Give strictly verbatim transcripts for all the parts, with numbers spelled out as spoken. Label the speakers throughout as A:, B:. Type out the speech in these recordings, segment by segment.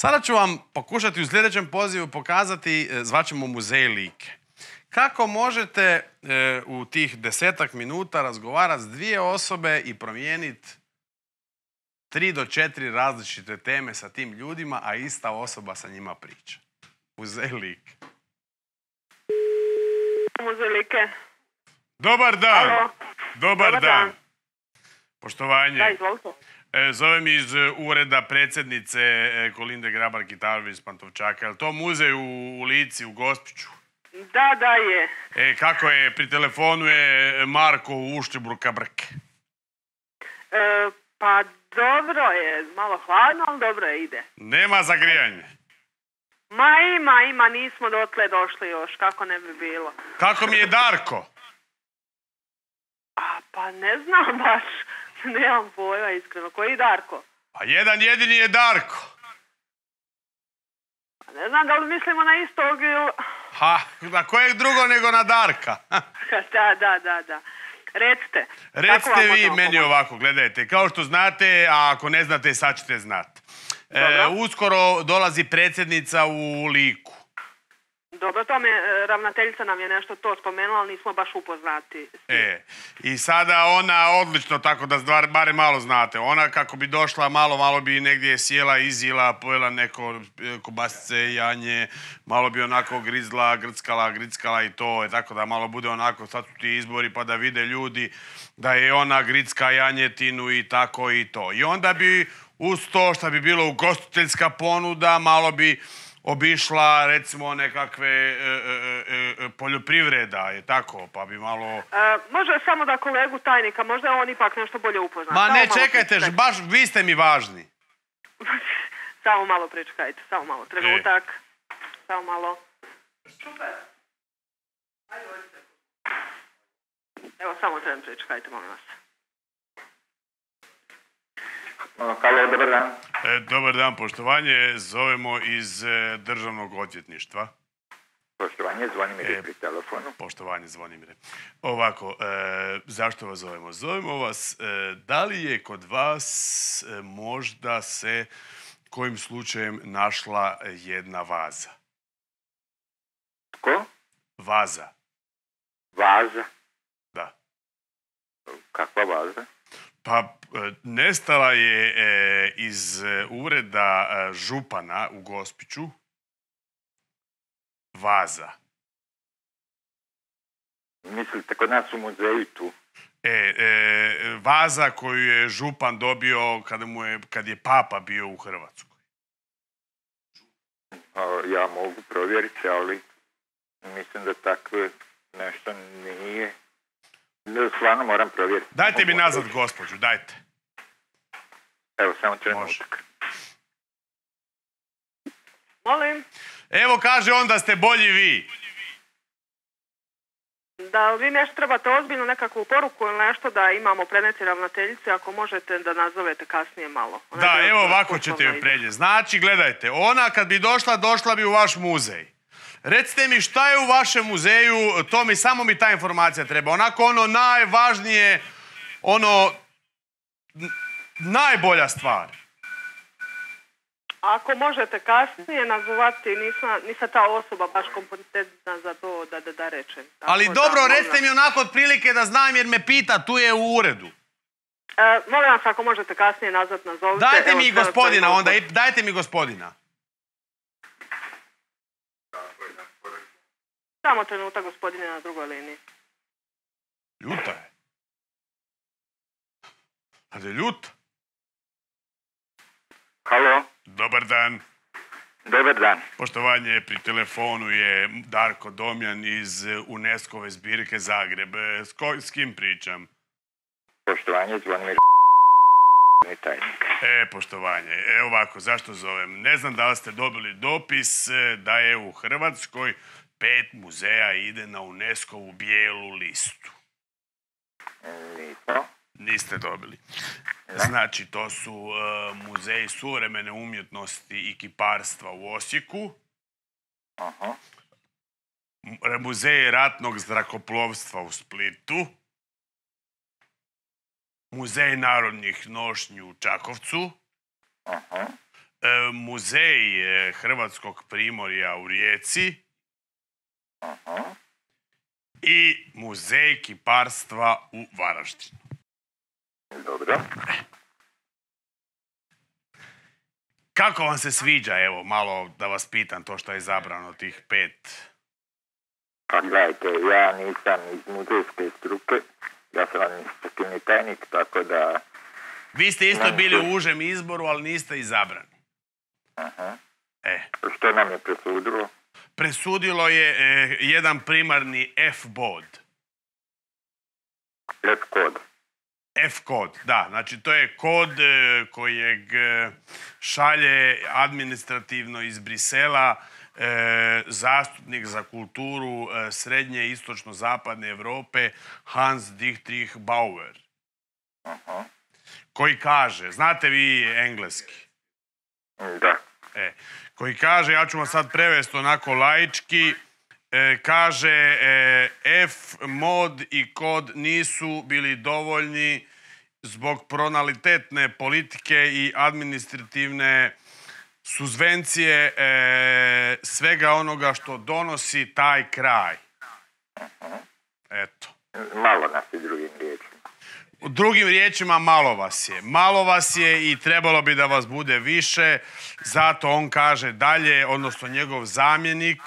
A: Sada ću vam pokušati u sljedećem pozivu pokazati, zvaćemo Muzej Like. Kako možete e, u tih desetak minuta razgovarati s dvije osobe i promijeniti tri do četiri različite teme sa tim ljudima, a ista osoba sa njima priča. Muzej Like.
B: Muzej Like.
A: Dobar dan.
B: Alo.
A: Dobar,
B: Dobar
A: dan.
B: dan.
A: Poštovanje.
B: Da, izvolite.
A: E, zovem iz e, ureda predsjednice e, Kolinde Grabar-Kitarović iz Pantovčaka. Je li to muzej u, u Lici, u Gospiću?
B: Da, da je.
A: E, kako je? Pri telefonu je Marko u Uštibruka Brke.
B: E, pa dobro je, malo hladno, ali dobro je, ide.
A: Nema zagrijanje.
B: Ma ima, ima, nismo dotle došli još, kako ne bi bilo.
A: Kako mi je Darko?
B: A, pa ne znam baš, nemam pojma iskreno. Koji Darko?
A: Pa jedan jedini je Darko.
B: Pa ne znam da li mislimo na istog ili...
A: Ha, na kojeg drugo nego na Darka?
B: da, da, da, da. Recite.
A: Recite vi meni ovako, gledajte, kao što znate, a ako ne znate, sad ćete znati. E, uskoro dolazi predsjednica u Liku.
B: Dobro, to me, ravnateljica nam je nešto to spomenula, ali nismo baš upoznati.
A: E, i sada ona odlično, tako da stvar, bare malo znate, ona kako bi došla, malo, malo bi negdje sjela, izjela, pojela neko kobasice, janje, malo bi onako grizla, grckala, grickala i to, tako da malo bude onako, sad su ti izbori pa da vide ljudi da je ona gricka janjetinu i tako i to. I onda bi uz to što bi bilo ugostiteljska ponuda, malo bi obišla, recimo, nekakve e, e, e, poljoprivreda, je tako, pa bi malo...
B: E, može samo da kolegu tajnika, možda je on ipak nešto bolje upoznat.
A: Ma
B: samo
A: ne, čekajte, baš vi ste mi važni.
B: samo malo pričekajte, samo malo, trenutak. E. Samo malo. Super. Ajde, dođite. Evo, samo tren pričekajte, molim vas.
C: Halo, dobar dan.
A: E, dobar dan, poštovanje. Zovemo iz e, Državnog odvjetništva.
C: Poštovanje, Zvonimire e, pri telefonu.
A: Poštovanje, Zvonimire. Ovako, e, zašto vas zovemo? Zovemo vas, e, da li je kod vas e, možda se kojim slučajem našla jedna vaza?
C: Ko?
A: Vaza.
C: Vaza?
A: Da.
C: Kakva vaza?
A: Pa, nestala je e, iz ureda e, župana u Gospiću vaza.
C: Mislite kod nas u muzeju tu?
A: E, e, vaza koju je župan dobio kada mu je, kad je papa bio u Hrvatskoj.
C: A, ja mogu provjeriti, ali mislim da takve nešto nije. Stvarno moram provjeriti.
A: Dajte mi nazad gospođu, dajte.
C: Evo, samo trenutak.
B: Molim?
A: Evo, kaže on da ste bolji vi.
B: Da vi nešto trebate ozbiljno nekakvu poruku ili nešto da imamo preneti ravnateljice, ako možete da nazovete kasnije malo. Ona
A: da, evo ovako ćete joj prenijeti. Znači, gledajte, ona kad bi došla, došla bi u vaš muzej. Recite mi šta je u vašem muzeju, to mi, samo mi ta informacija treba. Onako ono najvažnije, ono, najbolja stvar.
B: Ako možete kasnije nazvati, nisam ta osoba baš kompetentna za to da, da, da rečem. Tako
A: ali
B: da,
A: dobro,
B: možda...
A: recite mi onako otprilike da znam jer me pita, tu je u uredu.
B: E, molim vas, ako možete kasnije nazvat, nazovite.
A: Dajte mi gospodina onda, dajte mi gospodina.
B: Samo trenutak, gospodine, na drugoj liniji.
A: Ljuta je. A da je ljuta?
C: Halo?
A: Dobar dan.
C: Dobar dan.
A: Poštovanje, pri telefonu je Darko Domjan iz UNESCO-ve zbirke Zagreb. S, ko, s kim pričam?
C: Poštovanje, Zvonimir tajnik.
A: E, poštovanje. E, ovako, zašto zovem? Ne znam da li ste dobili dopis da je u Hrvatskoj pet muzeja ide na UNESCO-vu bijelu listu.
C: Nismo.
A: Niste dobili. Znači, to su uh, muzeji suvremene umjetnosti i kiparstva u Osijeku.
C: Aha.
A: Muzej ratnog zrakoplovstva u Splitu. Muzej narodnih nošnji u Čakovcu.
C: Aha.
A: e, muzej e, Hrvatskog primorja u Rijeci
C: Aha.
A: i muzej kiparstva u Varaždinu.
C: Dobro.
A: Kako vam se sviđa, evo, malo da vas pitam to što je izabrano, tih pet?
C: Pa gledajte, ja nisam iz muzejske struke, ja sam administrativni tajnik, tako da...
A: Vi ste isto
C: Nam
A: bili
C: se-
A: u užem izboru, ali niste izabrani.
C: Aha.
A: E,
C: Što nam je presudilo?
A: presudilo je e, jedan primarni F bod.
C: Red kod.
A: F kod, da. Znači, to je kod e, kojeg e, šalje administrativno iz Brisela e, zastupnik za kulturu e, srednje i istočno-zapadne Europe Hans Dietrich Bauer.
C: Aha.
A: Koji kaže, znate vi engleski?
C: Da.
A: E, koji kaže, ja ću vam sad prevesti onako laički, e, kaže e, F mod i kod nisu bili dovoljni zbog pronalitetne politike i administrativne suzvencije e, svega onoga što donosi taj kraj. Eto.
C: Malo nas i drugim riječima.
A: U drugim riječima, malo vas je. Malo vas je i trebalo bi da vas bude više. Zato on kaže dalje, odnosno njegov zamjenik,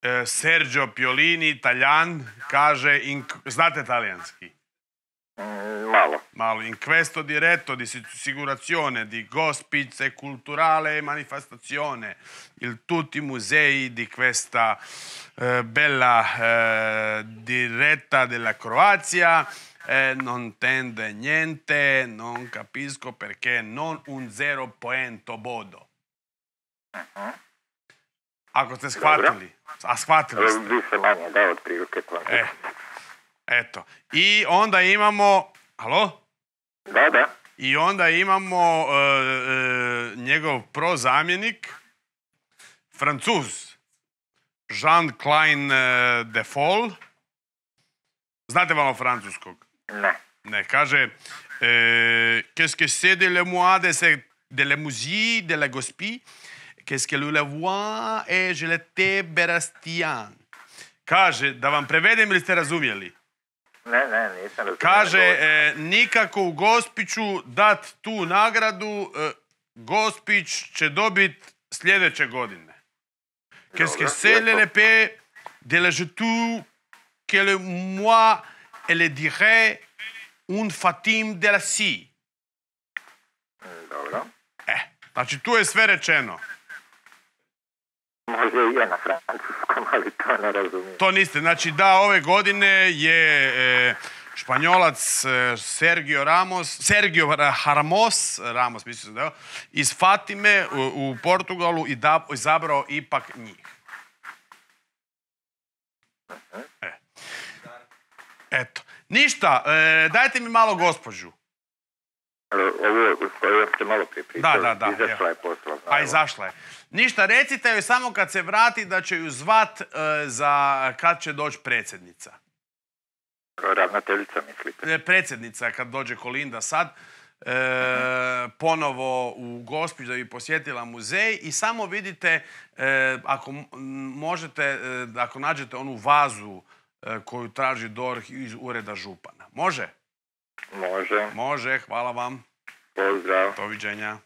A: eh, Sergio Piolini, Taljan, kaže, in, znate talijanski?
C: Mm, malo.
A: Malo. In questo diretto di assicurazione di gospice culturale e manifestazione il tutti i musei di questa eh, bella eh, diretta della Croazia eh, non tende niente, non capisco perché non un zero poento bodo.
C: Aha.
A: Ako ste shvatili. A shvatili ste.
C: Više manje, da, od prilike kontekst.
A: E, eto. I onda imamo... Alo?
C: Da, da.
A: I onda imamo e, e, njegov prozamjenik, Francuz, Jean Klein e, de Foll. Znate malo francuskog?
C: Ne.
A: Ne, kaže e, qu'est-ce que c'est de le moi de, ce, de la musique de la gospie? Qu'est-ce que le voix et je l'étais berastian. Kaže, da vam prevedem ili ste razumjeli?
C: Ne, ne, nisam razumio.
A: Kaže, e, nikako u Gospiću dat tu nagradu, e, Gospić će dobit sljedeće godine. Qu'est-ce que c'est le paix de la jetou que le moi et le dirait un fatim de la si.
C: Dobro.
A: E, znači tu je sve rečeno.
C: Može i je na francuskom, ali to ne razumijem.
A: To niste. Znači da, ove godine je e, Španjolac e, Sergio Ramos, Sergio Ramos, Ramos mislim da je, iz Fatime u, u Portugalu i da, izabrao ipak njih. E. Eto. Ništa, e, dajte mi malo gospođu.
C: Ovo koju ste malo prije pričali,
A: Da, da, da,
C: izašla
A: evo.
C: je posla.
A: A izašla je. Ništa, recite joj samo kad se vrati da će ju zvat e, za kad će doći predsjednica.
C: Ravnateljica, mislite?
A: E, Predsjednica kad dođe Kolinda sad, e, ponovo u Gospić da bi posjetila muzej i samo vidite, e, ako m- možete, e, ako nađete onu vazu e, koju traži D O R H iz ureda župana. Može?
C: Može.
A: Može, hvala vam.
C: Pozdrav.
A: Doviđenja.